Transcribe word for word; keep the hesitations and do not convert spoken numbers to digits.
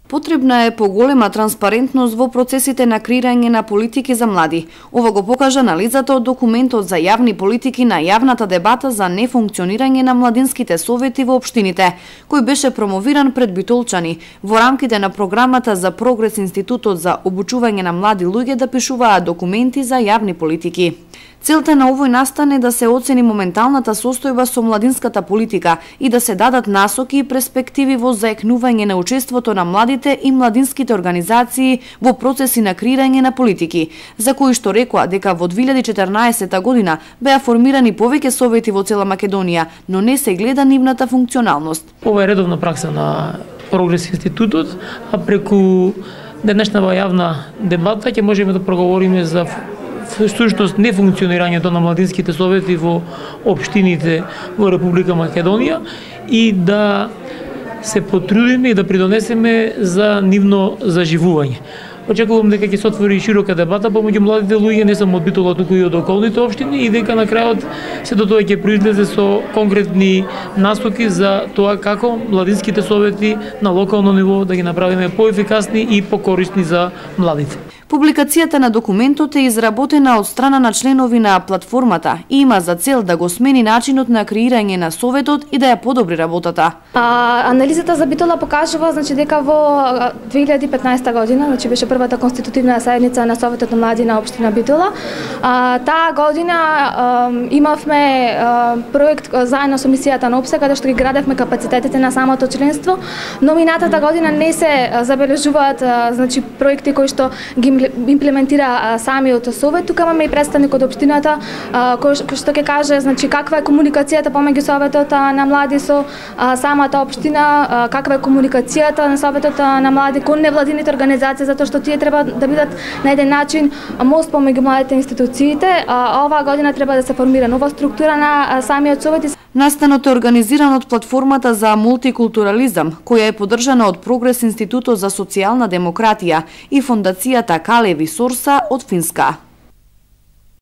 Потребна е поголема транспарентност во процесите на креирање на политики за млади. Ова го покажа анализата од документот за јавни политики на јавната дебата за нефункционирање на младинските совети во општините, кој беше промовиран пред битолчани во рамките на програмата за прогрес Институтот за обучување на млади луѓе да пишуваат документи за јавни политики. Целта на овој настан е да се оцени моменталната состојба со младинската политика и да се дадат насоки и перспективи во заекнување на учеството на младите и младинските организации во процеси на креирање на политики, за кои што рекоа дека во две илјади и четрнаесетта година беа формирани повеќе совети во цела Македонија, но не се гледа нивната функционалност. Ова е редовна пракса на Прогрес Институтот, а преку денешната јавна дебата ќе можеме да проговориме за всушност нефункционирањето на младинските совети во општините во Република Македонија и да се потрудиме и да придонесеме за нивно заживување. Очекувам дека ќе се отвори широка дебата помеѓу младите луѓе, не само од Битола, туку и од околните општини, и дека на крајот сето тоа ќе произлезе со конкретни насоки за тоа како младинските совети на локално ниво да ги направиме поефикасни и покорисни за младите. Публикацијата на документот е изработена од страна на членови на платформата и има за цел да го смени начинот на креирање на советот и да ја подобри работата. А, анализата за Битола покажува значи дека во две илјади и петнаесетта година, значи беше првата конститутивна заедница на Советот на млади на општина Битола. А, таа година а, имавме а, проект заедно со мисијата на ОПСЕ, каде што ги градевме капацитетите на самото членство, но минатата година не се забележуваат а, значи проекти кои што ги имплементира а, самиот совет. Тука имаме и представник од општината а, кој, кој што ќе каже значи каква е комуникацијата помеѓу советот а, на млади со а, самата општина, а, каква е комуникацијата на советот а, на млади кон невладините организации, затоа што тие треба да бидат на еден начин мост помеѓу младите институциите. А, оваа година треба да се формира нова структура на а, самиот совет. Настанот е организиран од платформата за мултикултурализам, која е поддржана од Прогрес Институтот за социјална демократија и фондацијата Калеви Сорса од Финска.